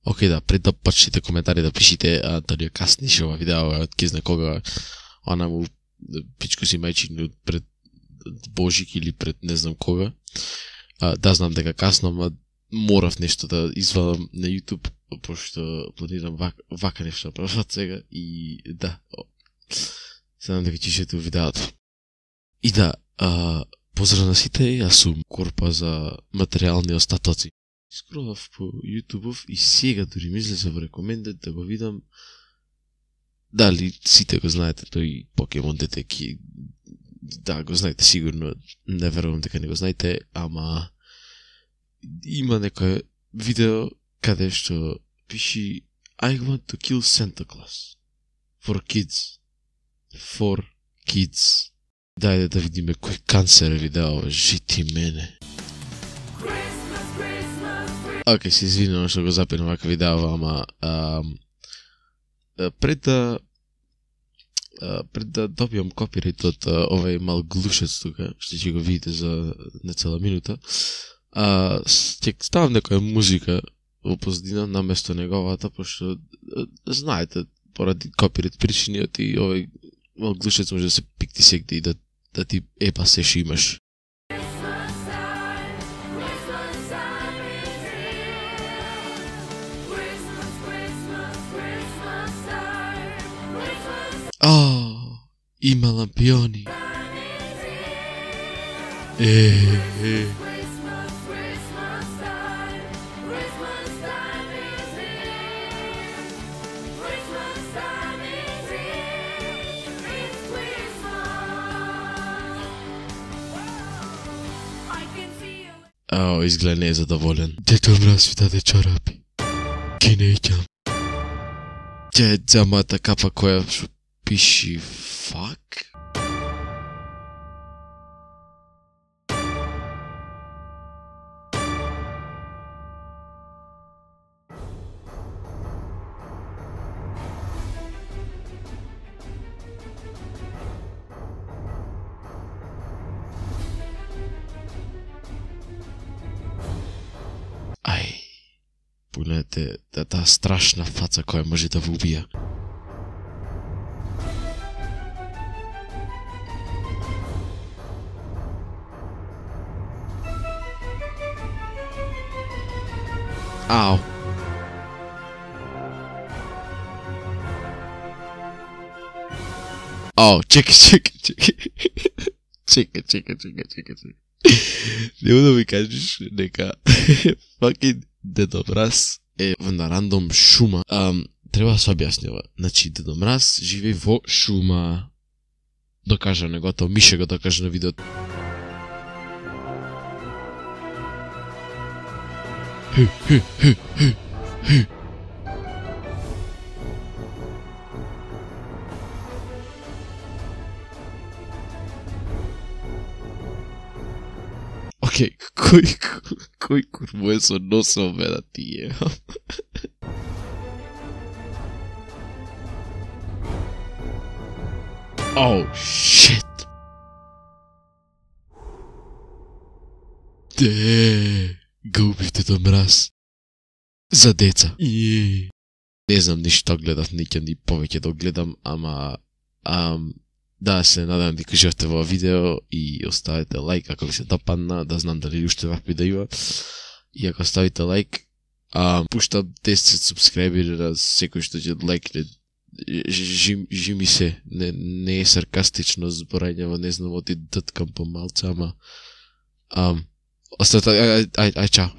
Океј, да, пред да почнете коментари да пишите, дали ја касниш ова видео, од ке знае кога, она му пичко си мајчин пред Божик или пред не знам кога. Да, знам дека касно, ама морав нешто да извадам на YouTube, пошто планирам вака нешто прават сега и да, се надам дека чишете видеото. И да, поздрав на сите, јас сум Корпа за материјални остатоци. Скролав по YouTube и сега дури ми излезе во рекомендет да го видам. Дали сите го знаете тој Покемон Детеки? Да, го знаете сигурно, не верувам дека не го знаете, ама има некој видео каде што пиши I want to kill Santa Claus for kids. For kids. Дајде да видиме кој канцер видео, жити мене. Океј, се извинувам што го запирам вака видео, ама пред да добијам копирајт од овај мал глушец тука, што ќе го видите за нецела минута, ќе ставам некоја музика во позадина наместо неговата, пошто знаете, поради копирајт причиниот и овај мал глушец може да се пикти сегде и да ти епа се што имаш. Има лампиони. Изгледа не е задоволен. Дето мраз ви даде чорапи. Ки не икам. Тя е дзамата капа која шо пиши fuck? Погледнете таа страшна фаца која може да ве убија. Ау. Ау, чекај. Чекај. Нема да ми кажеш дека fucking Дедо Мраз е на рандом шума. Треба да се објаснива. Значи, Дедо Мраз живее во шума. Докажа негото, Мише го докажа на видеото. Океј, кој курво е со носо беда тие? Оу, шит! Го убивте Дедо Мраз. За деца. Не знам ни што гледав, не ќе ни повеќе да гледам, ама да, се надам дека кажете во видео и оставете лайк ако ви се допадна, да знам дали уште вакви да има. И ако ставите лайк, пуштам 10 субскрайбери на секој што ќе лайкне. Жими се, не е саркастично зборање, не знам, оти дъткам помалце, ама оставете, ај, чао.